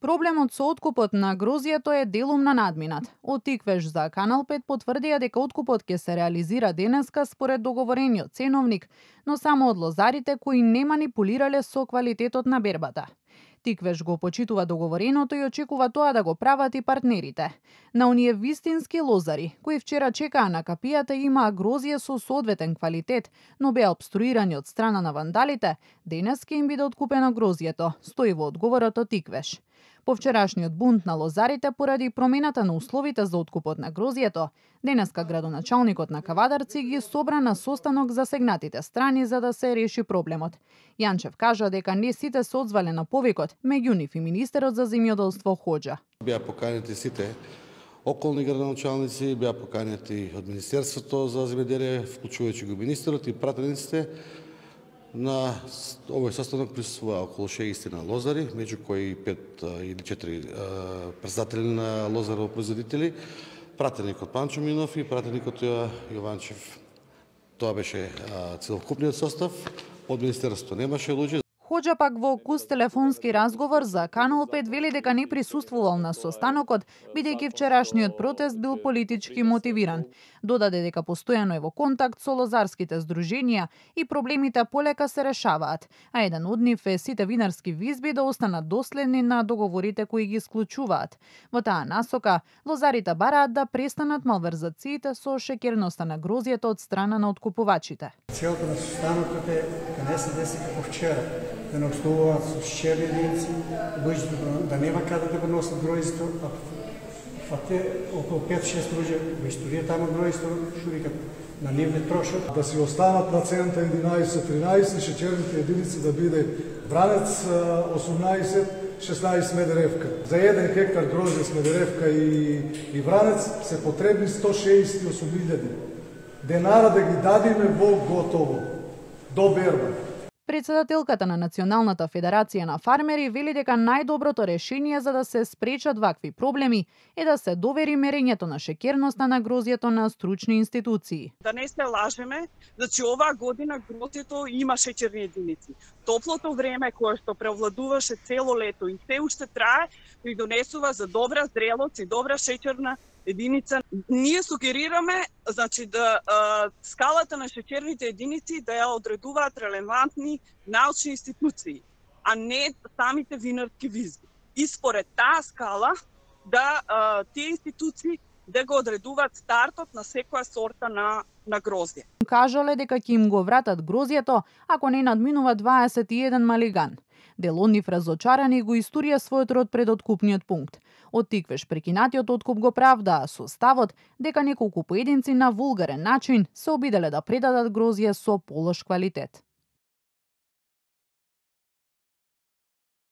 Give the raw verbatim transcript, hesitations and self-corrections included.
Проблемот со откупот на грозјето е делумно надминат. Од Тиквеш за Канал пет потврдија дека откупот ќе се реализира денеска според договорениот ценовник, но само од лозарите кои не манипулирале со квалитетот на бербата. Тиквеш го почитува договореното и очекува тоа да го прават и партнерите. На оние вистински лозари, кои вчера чекаа на капијата и имаа грозје со соодветен квалитет, но беа обструирани од страна на вандалите, денес ќе им биде откупено грозјето, стои во одговорот од Тиквеш. По вчерашниот бунт на лозарите поради промената на условите за откупот на грозјето, денеска градоначалникот на Кавадарци ги собра на состанок засегнатите страни за да се реши проблемот. Јанчев кажа дека не сите се одзвале на повикот, меѓу нив и министерот за земјоделство Хоџа. Беа поканети сите околни градоначалници, беа поканети од Министерството за земјоделие, вклучувајќи го министерот и пратениците. На овој состанок присуствува околу шеесет лозари, меѓу кои пет или четири председатели на лозарово производители, пратеникот Панчо Минов и пратеникот Јованчев. Тоа беше целокупниот состав. Од министерството немаше луѓе. Хоџа пак во кус телефонски разговор за Канал пет вели дека не присуствувал на состанокот, бидејќи вчерашниот протест бил политички мотивиран. Додаде дека постојано е во контакт со лозарските здруженија и проблемите полека се решаваат, а еден од нив е сите винарски визби да останат доследни на договорите кои ги исклучуваат. Во таа насока, лозарите бараат да престанат малверзациите со шеќерноста на грозјето од страна на откупувачите. Целта на состанокот е да не се деси како вчера, да не обслужуваат со шеќерни единици, луѓето да нема каде да го носат гројството, а фате околу пет-шест луѓе во историјата на гројството што викат на нив не трошат. Да си останат процента единаесет-тринаесет, шеќерните единици да биде Вранец осумнаесет, шеснаесет Смедеревка. За еден хектар грозје Смедеревка и, и Вранец се потребни сто шеесет и осум илјади. Денара да ги дадиме во готово, до берба. Председателката на Националната федерација на фармери вели дека најдоброто решение за да се спречат вакви проблеми е да се довери мерењето на шеќерноста на грозјето на стручни институции. Да не се лажеме, значи оваа година грозјето има шеќерни единици. Топлото време кое што превладуваше цело лето и се уште трае, придонесува за добра зрелост и добра шеќерна единица. Ние сугерираме, значи да а, скалата на шеќерните единици да ја одредуваат релевантни научни институции, а не самите винарски визби. И според таа скала да а, тие институции да го одредуваат стартот на секоја сорта на на грозје. Кажале дека ќе им го вратат грозјето ако не надминува дваесет и еден малиган. Дел од нив разочарани го истурија својот род пред откупниот пункт. Од Тиквеш прекинатиот откуп го правдаа со ставот дека неколку поединци на вулгарен начин се обиделе да предадат грозје со полош квалитет.